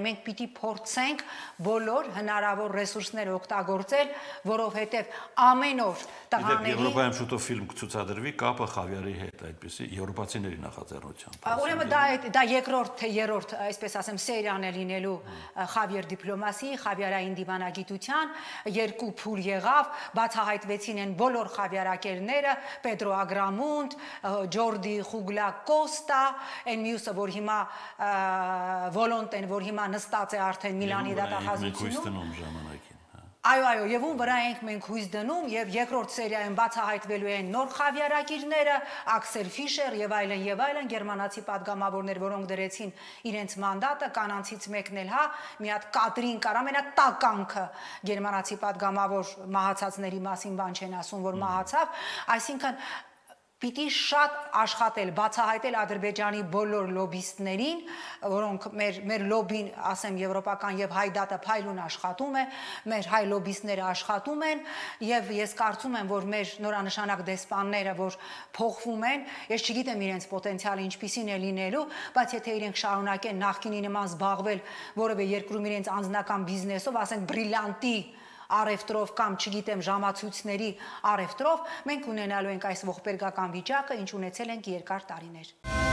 Մենք պիտի փորձենք բոլոր հնարավոր ռեսուրսները օգտագործել, որովհետև ամեն օր տղաների Եվրոպայում շուտով ֆիլմ կցուցադրվի կապը Խավիարի հետ, այդպեսի եվրոպացիների նախաձեռնությամբ։ Ուրեմն դա երկրորդ թե երրորդ, այսպես ասեմ, սերիան է լինելու Խավիեր դիպլոմասի, Խավիարային դիվանագիտության, երկու փուլ եղավ, բացահայտվեցին են բոլոր խավիարակերները, Պետրո Ագրամունդ, Ջորդի Խուգլա Կոստա, այն մյուսը, որ հիմա Վոլոնտեն, որ հիմա նստած է արդեն Միլանի դատախազությունում։ Այո, եւ ում վրա ենք մենք հույս դնում եւ երկրորդ սերիայում բացահայտվելու են նոր խավիարակիրները, Աքսել Ֆիշեր եւ այլն, գերմանացի падգամավորներ, որոնք դրեցին իրենց մանդատը, կանանցից մեկն էլ հա, մի հատ Կատրին կար, ամենատականքը գերմանացի падգամավոր մահացածների մասին բան չեն ասում, որ մահացավ, այսինքն պիտի շատ աշխատել, բացահայտել Ադրբեջանի բոլոր լոբիստներին, որոնք մեր լոբին, ասեմ, եվրոպական եւ հայ դատը փայլուն աշխատում է, մեր հայ լոբիստները աշխատում են եւ ես կարծում եմ, որ մեր նորանշանակ դեսպանները, որ փոխվում են, ես չգիտեմ իրենց պոտենցիալը ինչպիսին է լինելու, բայց եթե իրենք շարունակեն նախկինի նման զբաղվել որևէ երկրում իրենց անձնական բիզնեսով, ասենք բրիլյանտի արևտրով կամ չգիտեմ ժամացույցների արևտրով, մենք ունենալու ենք այս ողբերգական վիճակը, ինչ ունեցել ենք երկար տարիներ։